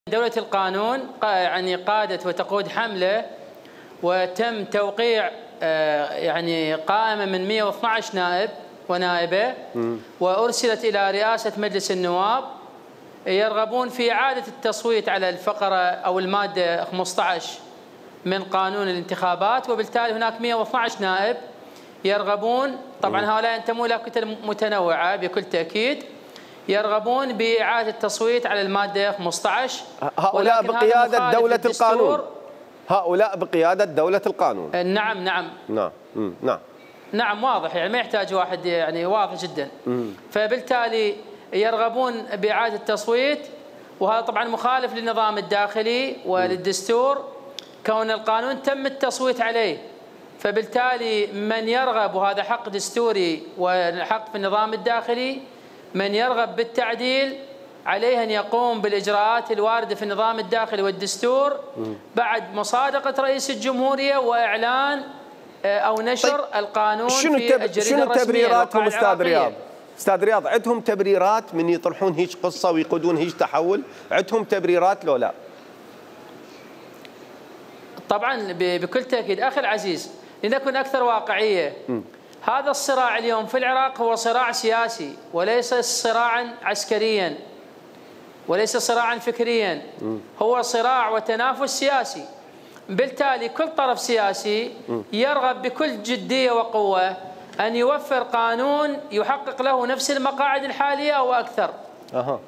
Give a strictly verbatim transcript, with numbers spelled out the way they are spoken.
دولة القانون يعني قادت وتقود حملة وتم توقيع يعني قائمة من مئة واثني عشر نائب ونائبة وأرسلت إلى رئاسة مجلس النواب يرغبون في إعادة التصويت على الفقرة أو المادة خمسة عشر من قانون الانتخابات، وبالتالي هناك مئة واثني عشر نائب يرغبون، طبعا هؤلاء ينتمون إلى كتل متنوعة بكل تأكيد، يرغبون بإعادة التصويت على المادة خمسة عشر. هؤلاء بقيادة دولة القانون. هؤلاء بقيادة دولة القانون. نعم نعم نعم نعم نعم واضح، يعني ما يحتاج واحد، يعني واضح جدا. فبالتالي يرغبون بإعادة التصويت، وهذا طبعا مخالف للنظام الداخلي وللدستور كون القانون تم التصويت عليه. فبالتالي من يرغب، وهذا حق دستوري وحق في النظام الداخلي، من يرغب بالتعديل عليه أن يقوم بالإجراءات الواردة في النظام الداخلي والدستور بعد مصادقة رئيس الجمهورية وإعلان أو نشر طيب القانون شنو في الجريدة الرسمية. شنو تبريراتهم أستاذ رياض؟ أستاذ رياض عندهم تبريرات من يطرحون هيج قصة ويقودون هيج تحول؟ عندهم تبريرات لو لا؟ طبعا بكل تأكيد أخي العزيز، لنكن أكثر واقعية. م. هذا الصراع اليوم في العراق هو صراع سياسي وليس صراعا عسكريا وليس صراعا فكريا، هو صراع وتنافس سياسي. بالتالي كل طرف سياسي يرغب بكل جدية وقوة أن يوفر قانون يحقق له نفس المقاعد الحالية أو أكثر. أها.